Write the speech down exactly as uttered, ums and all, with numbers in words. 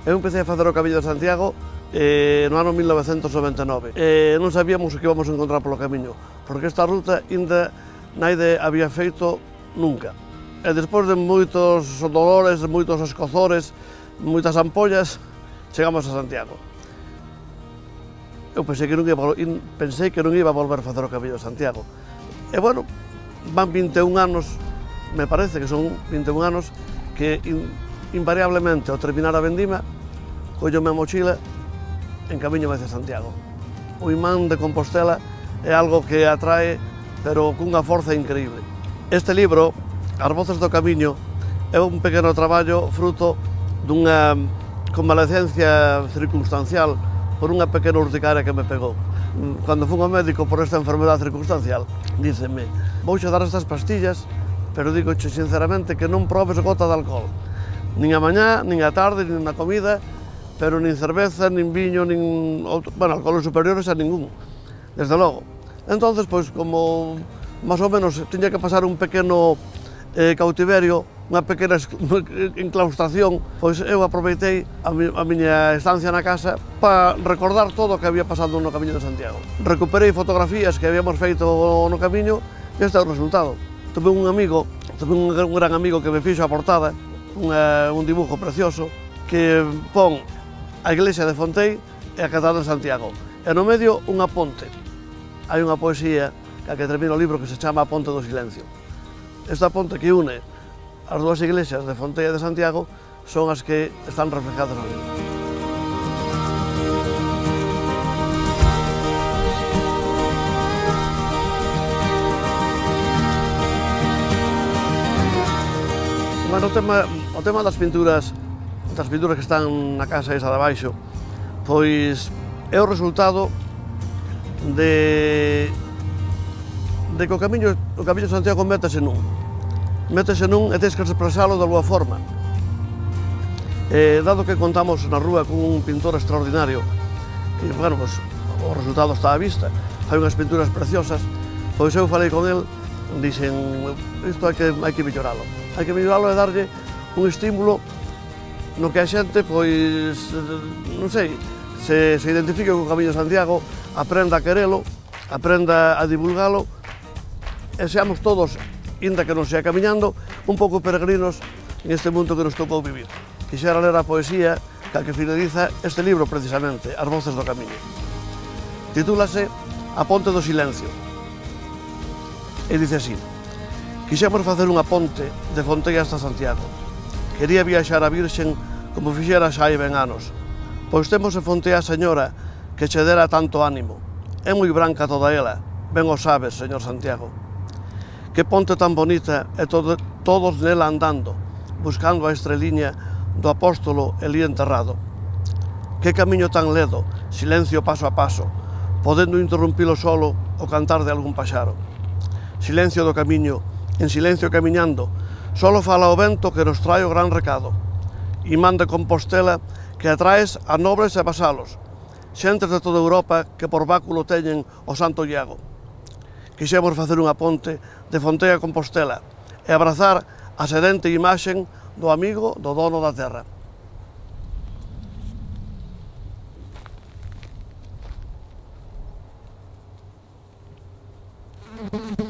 Eu empecé a facer o Camiño de Santiago eh, no ano mil novecentos noventa e nove. Eh, non sabíamos o que íbamos a encontrar polo camiño, porque esta ruta ainda naide había feito nunca. E despois de moitos dolores, moitos escozores, moitas ampollas, chegamos a Santiago. Eu pensei que non iba, pensei que non iba a volver a facer o Camiño de Santiago. E, bueno, van vinte e un anos, me parece que son vinte e un anos, que in, invariablemente, ao terminar a vendima, collome a mochila en camiño hacia Santiago. O imán de Compostela é algo que atrae, pero cunha forza increíble. Este libro, As voces do camiño, é un pequeno traballo fruto dunha convalecencia circunstancial por unha pequena urticaria que me pegou. Cando fun ao médico por esta enfermedade circunstancial, díceme, vouche dar estas pastillas, pero digoche sinceramente que non probes gota de alcohol. Nin a mañá, nin a tarde, nin na comida, pero nin cerveza, nin viño, nin... bueno, alcoholes superiores a ningún, desde logo. Entonces, pois, como máis ou menos tiña que pasar un pequeno eh, cautiverio, unha pequena enclaustración, pois eu aproveitei a, mi, a miña estancia na casa para recordar todo o que había pasado no Camiño de Santiago. Recuperei fotografías que habíamos feito no camiño e este é o resultado. Tuve un amigo, tuve un gran amigo que me fixo a portada, unha, un dibujo precioso, que pon a iglesia de Fontei e a Catedral de Santiago. E no medio unha ponte. Hai unha poesía que, que termina o libro que se chama A Ponte do Silencio. Esta ponte que une as dúas iglesias de Fontei e de Santiago son as que están reflejadas no libro. Bueno, o tema, o tema das pinturas, das pinturas que están na casa esa de abaixo, pois é o resultado de, de que o camiño, o camiño de Santiago métese nun. Métese nun e tens que expresalo de alguma forma. Eh, dado que contamos na rúa con un pintor extraordinario, e, bueno, pues, o resultado está á vista, fai unhas pinturas preciosas, pois eu falei con el, dixen, isto hai que, hai que melloralo. Hai que melloralo e darlle un estímulo no que a xente, pois, non sei, se, se identifique co Camiño de Santiago, aprenda a querelo, aprenda a divulgalo, e seamos todos, inda que non sea camiñando, un pouco peregrinos neste mundo que nos tocou vivir. Quixera ler a poesía que que finaliza este libro precisamente, As voces do camiño. Titúlase A ponte do silencio. E dice así: quixemos facer unha ponte de Fontei hasta Santiago. Quería viaxar a Virxen como fixera xa hai ben anos, pois temos en Fontei a Señora que che dera tanto ánimo. É moi branca toda ela, ben o sabes, señor Santiago. Que ponte tan bonita e todo, todos nela andando, buscando a estreliña do apóstolo Elí enterrado. Que camiño tan ledo, silencio paso a paso, podendo interrumpilo solo o cantar de algún paxaro. Silencio do camiño, en silencio camiñando, solo fala o vento que nos trae o gran recado. Imán de Compostela que atraes a nobres e vasalos, xentes de toda Europa que por báculo teñen o Santo Iago. Quixemos facer unha ponte de Fontei a Compostela e abrazar a sedente imaxen do amigo do dono da terra. Thank you.